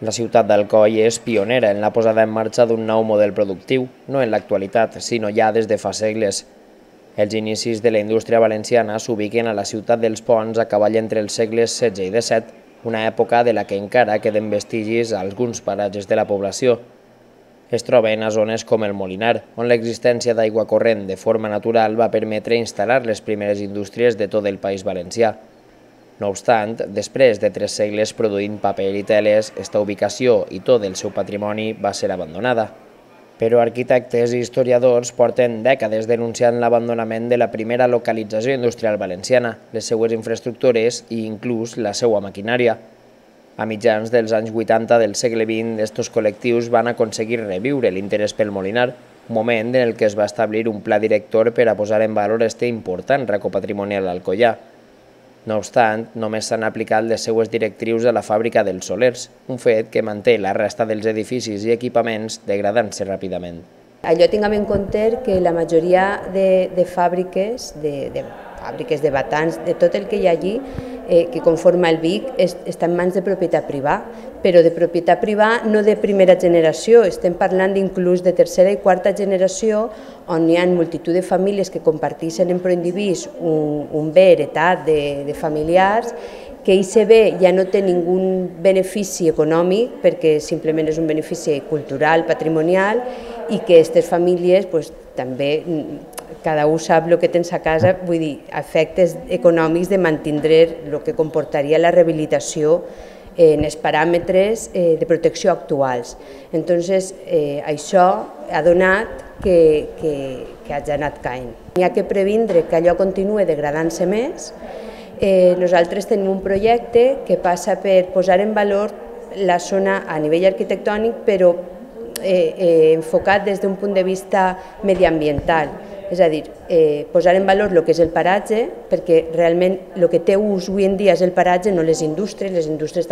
La ciutat d'Alcoi és pionera en la posada en marxa d'un nou model productiu, no en l'actualitat, sinó ja des de fa segles. Els inicis de la indústria valenciana s'ubiquen a la ciutat dels Ponts a cavall entre els segles XVI i XVII, una època de la que encara queden vestigis a alguns paratges de la població. Es troben a zones com el Molinar, on l'existència d'aigua corrent de forma natural va permetre instal·lar les primeres indústries de tot el País Valencià. No obstant, després de 3 segles produint paper i teles, esta ubicació i tot el seu patrimoni va ser abandonada. Però arquitectes i historiadors porten dècades denunciant l'abandonament de la primera localització industrial valenciana, les seues infraestructures i inclús la seva maquinària. A mitjans dels anys 80 del segle XX, estos col·lectius van aconseguir reviure l'interès pel Molinar, un moment en el que es va establir un pla director per a posar en valor este important racó patrimonial alcoià. No obstant, només s'han aplicat les seues directrius a la fàbrica dels Solers, un fet que manté la resta dels edificis i equipaments degradant-se ràpidament. Allò tinguem en compte que la majoria de fàbriques, de batans, de tot el que hi ha allí, que conforma el Vic, està en mans de propietat privada, però de propietat privada no de primera generació, estem parlant inclús de tercera i quarta generació, on hi ha multitud de famílies que comparteixen en proindivís un bé heretat de familiars, que aquest bé ja no té ningú benefici econòmic, perquè simplement és un benefici cultural, patrimonial, i que aquestes famílies també, cada un sap el que tens a casa, vull dir, efectes econòmics de mantindre el que comportaria la rehabilitació en els paràmetres de protecció actuals. Entonces, això ha donat que hagi anat caient. Hi ha que previndre que allò continuï degradant-se més. Nosaltres tenim un projecte que passa per posar en valor la zona a nivell arquitectònic, però enfocat des d'un punt de vista mediambiental. És a dir, posar en valor el que és el paratge, perquè realment el que té ús avui en dia és el paratge, no les indústries. Les indústries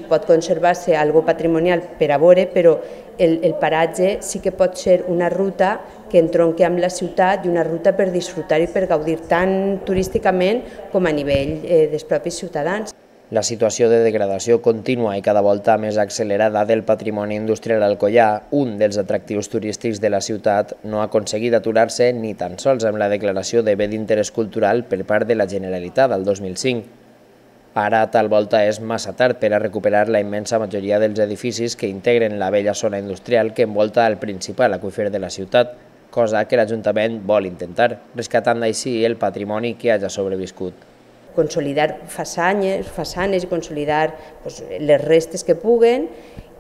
pot conservar-se algo patrimonial per a veure, però el paratge sí que pot ser una ruta que entronqui amb la ciutat i una ruta per disfrutar i per gaudir tant turísticament com a nivell dels propis ciutadans. La situació de degradació contínua i cada volta més accelerada del patrimoni industrial alcoià, un dels atractius turístics de la ciutat, no ha aconseguit aturar-se ni tan sols amb la declaració de bé d'interès cultural per part de la Generalitat al 2005. Ara, tal volta, és massa tard per a recuperar la immensa majoria dels edificis que integren la vella zona industrial que envolta el principal aqüífer de la ciutat, cosa que l'Ajuntament vol intentar, rescatant així el patrimoni que hagi sobreviscut. Consolidar façanes i consolidar les restes que puguen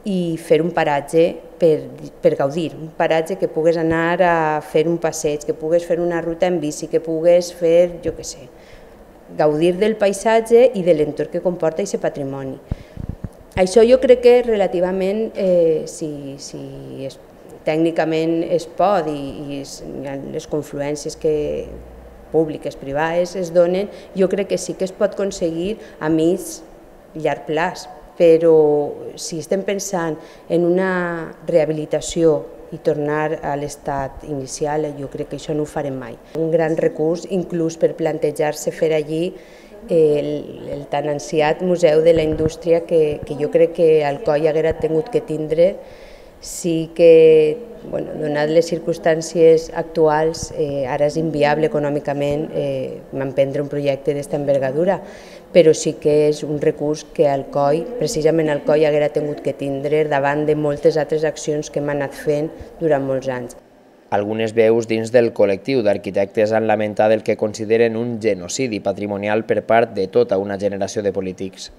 i fer un paratge per gaudir, un paratge que pugues anar a fer un passeig, que pugues fer una ruta en bici, que pugues fer, jo què sé, gaudir del paisatge i de l'entorn que comporta aquest patrimoni. Això jo crec que relativament, si tècnicament es pot i les confluències públiques, privades, es donen, jo crec que sí que es pot aconseguir a mig llarg plaç, però si estem pensant en una rehabilitació i tornar a l'estat inicial, jo crec que això no ho farem mai. Un gran recurs, inclús per plantejar-se fer allí el tan ansiat Museu de la Indústria que jo crec que Alcoi haguera tingut que tindre. Sí que, donat les circumstàncies actuals, ara és inviable econòmicament emprendre un projecte d'esta envergadura, però sí que és un recurs que Alcoi, precisament Alcoi, haguera tingut que tindre davant de moltes altres accions que hem anat fent durant molts anys. Algunes veus dins del col·lectiu d'arquitectes han lamentat el que consideren un genocidi patrimonial per part de tota una generació de polítics.